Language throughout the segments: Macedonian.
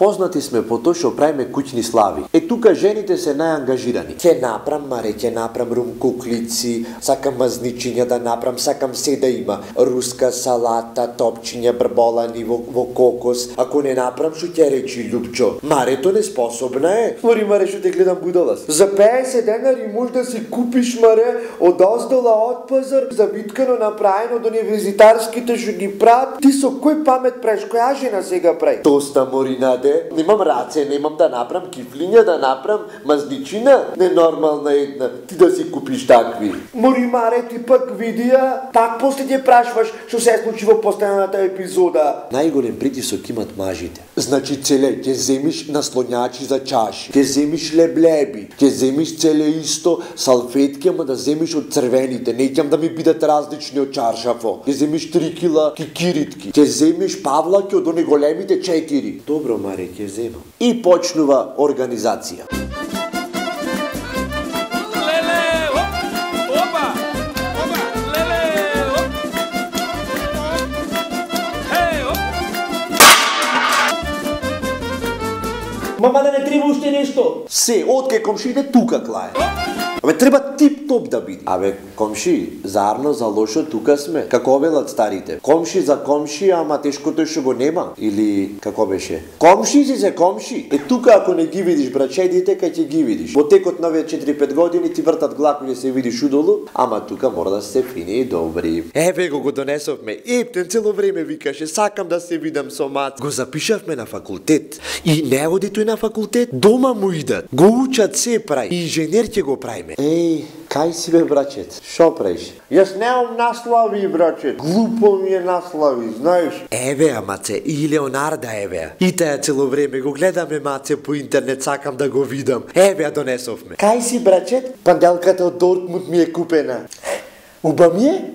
Познати сме по тоа што правиме куќни слави. Тука жените се најангажирани. Ќе направам маре, ќе направам рум куклици, сакам мазничиња да направам, сакам се да има руска салата, топчиња брболани во кокос. Ако не направам, што ќе речи Лупчо? Марето неспособна е. Мори маре, што те гледам будалас. За 50 денари може да си купиш маре од оздола од пазар, завиткано направено до универзитарските што ги прават. Ти со кој памет правиш? Која жена сега прави? Тоста, Моринаде, немам раце, немам да направам кифлиња, да направам мазничина. Ненормална една, ти да си купиш такви. Мори маре, ти пак видија, так после ќе прашваш што се случи во последната епизода. Најголем притисок имат мажите. Значи целе, ќе земиш наслонјачи за чаши, ќе земиш леблеби, ќе земиш целе исто салфетки, ама да земиш од црвените, неќам да ми бидат различни од чаршафо. Ќе земиш 3 кила кикиритки, ќе земиш павлаки од оне големите 4. Добро, маре, ќе земам. И почнува организација. Мама, да не треба уште нешто. Се, откај комшиите тука клае. Абе, треба тип-топ да биде. Абе, комши, зарно за лошо тука сме. Како велат старите. Комши за комши, ама тешкото што го нема. Или, како беше? Комши си се комши. Тука ако не ги видиш брачедите, кај ќе ги видиш. Во текот на овие 4-5 години ти вртат глаку да се видиш удолу, ама тука мора да се фини и добри. Еве го донесовме. Ептен цело време викаше, сакам да се видам со мат. Го запишавме на факултет. И не оди тој на факултет, дома му идат. Го учат се прави. И инженер ќе го правиме. Еј, кај си бе, брачет? Шо правиш? Јас немам наслави, брачет. Глупо ми е наслави, знаеш? Еве, маце, и Леонарда еве. И таја цело време го гледаме, маце, по интернет, сакам да го видам. Еве, донесовме. Кај си, брачет? Панделката од Дортмунд ми е купена. Уба ми е?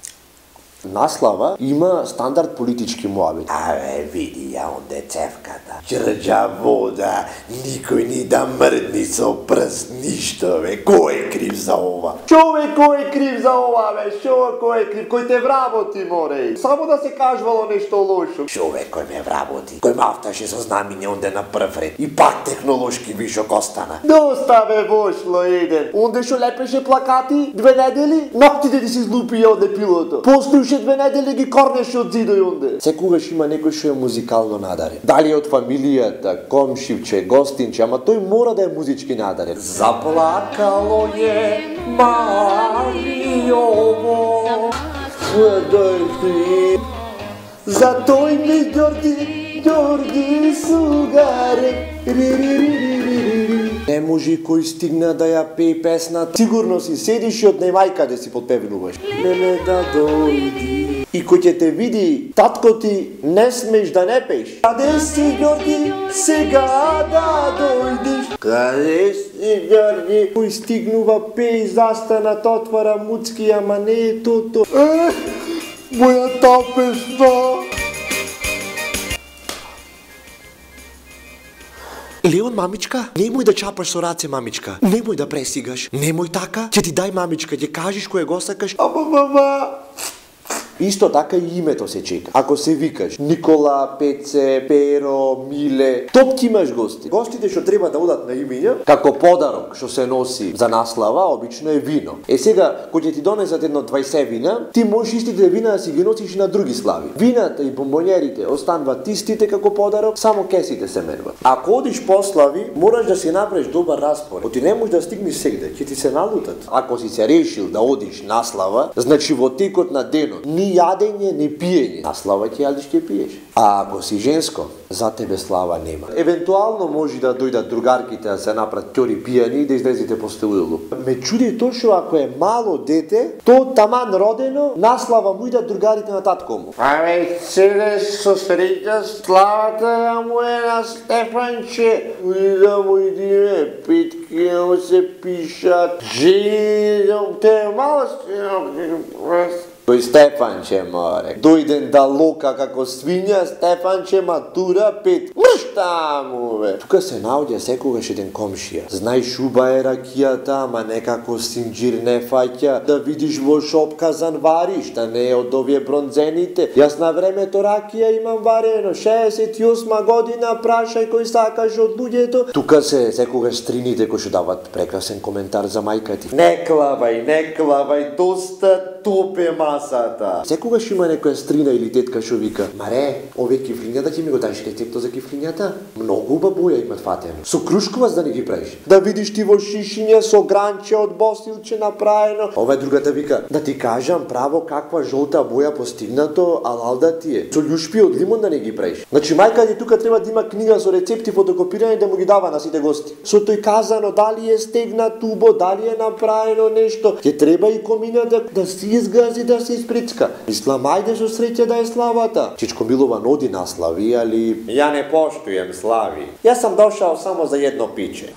Наслава има стандард политички муабет. Абе, види ја онде цевката. Чрđа вода, никој ни да мрдни со прст, ништо, бе. Кој е крив за ова? Човек, кој е крив за ова, бе? Кој е крив? Кој те вработи, море? Само да се кажвало нешто лошо. Човек кој ме вработи. Кој мафташе со знамиње онде на прв ред. И пак технолошки вишок остана. Доста бе вошло еден. Онде шо лепеше плакати 2 недели, ноктите ти си злупија онде пилото. Постојше 2 недели ги корнеше од зидој онде. Секогаш има некој што е музикално надарен. Дали од фамилијата, комшивче, гостинче, ама тој мора да е музички надарен. Заплакало е Мариово, за тој ми Ѓорги Сугаре. Не може кој стигна да ја пее песната. Сигурно си седиш и од немајка да си подпевнуваш. Леле да дојди. И кој ќе те види, татко ти, не смеш да не пееш. Каде си, Ѓорги, сега да дојдиш? Каде си, Ѓорги? Кој стигнува, пее, застанат, отвара муцки, ама не е тото. Мојата песна. Леон, мамичка, немој да чапаш со раце, мамичка. Немој да пресигаш. Немој така. Ќе ти дај, мамичка, ќе кажеш кој го сакаш. Ама, мама. Исто така и името се чека. Ако се викаш Никола, Пеце, Перо, Миле, топ ќе имаш гости. Гостите што треба да одат на имиња, како подарок што се носи за наслава, обично е вино. Сега, кој ќе ти донесат едно 20 вина, ти можеш истите вина да си ги носиш и на други слави. Вината и бомбонерите остануваат истите како подарок, само кесите се менуват. Ако одиш по слави, мораш да си направиш добар распоред. Ти не можеш да стигнеш сегде, ќе ти се налутат. Ако си се решил да одиш наслава, значи во текот на денот ни јадење, ни пиење. Наслава ќе јадиш, ќе пиеш. А ако си женско, за тебе слава нема. Евентуално може да дојдат другарките да се направат ќори пијани и да излезете по стелулу. Ме чуди точно ако е мало дете, то таман родено, наслава му идат другарите на татко му. Абе, седеш со среќа, славата му е на Стефанче. Да му идиме, питки му се пишат. Жени, те мало Тој Стефанче море. Дојден да лока како свиња, Стефанче матура 5. Мршта му бе. Тука се наоѓа секогаш еден комшија. Знај шуба е ракијата, ама некако синџир не фаќа. Да видиш во шопказан вариш, да не е од овие бронзените. Јас на времето ракија имам варено, 68 година, прашај кој сакаш од луѓето. Тука се секогаш стрините кои што дават прекрасен коментар за мајка ти. Не клавај, доста топе масата. Секогаш има некоја стрина или тетка што вика: "Маре, овие кифлињата ќе ми го дадеш рецепто за кифлињата? Многу убава боја имат фатено. Со крушкова за да не ги правиш. Да видиш ти во шишиња со гранче од босилче направено." Ова другата вика: "Да ти кажам право каква жолта боја постигнато, алал да ти е. Со љушпи од лимон да не ги правиш." Значи мајка ти тука треба да има книга со рецепти фотокопирани да му ги дава на сите гости. Со тој казано дали е стегнат убо, дали е направено нешто, ќе треба и комина да си изгази, да се испричка. Мислам, ајде со среќа да е славата. Чичко Милован оди на слави, али ја не поштуjem слави. Јас сам дошao само за едно пиче.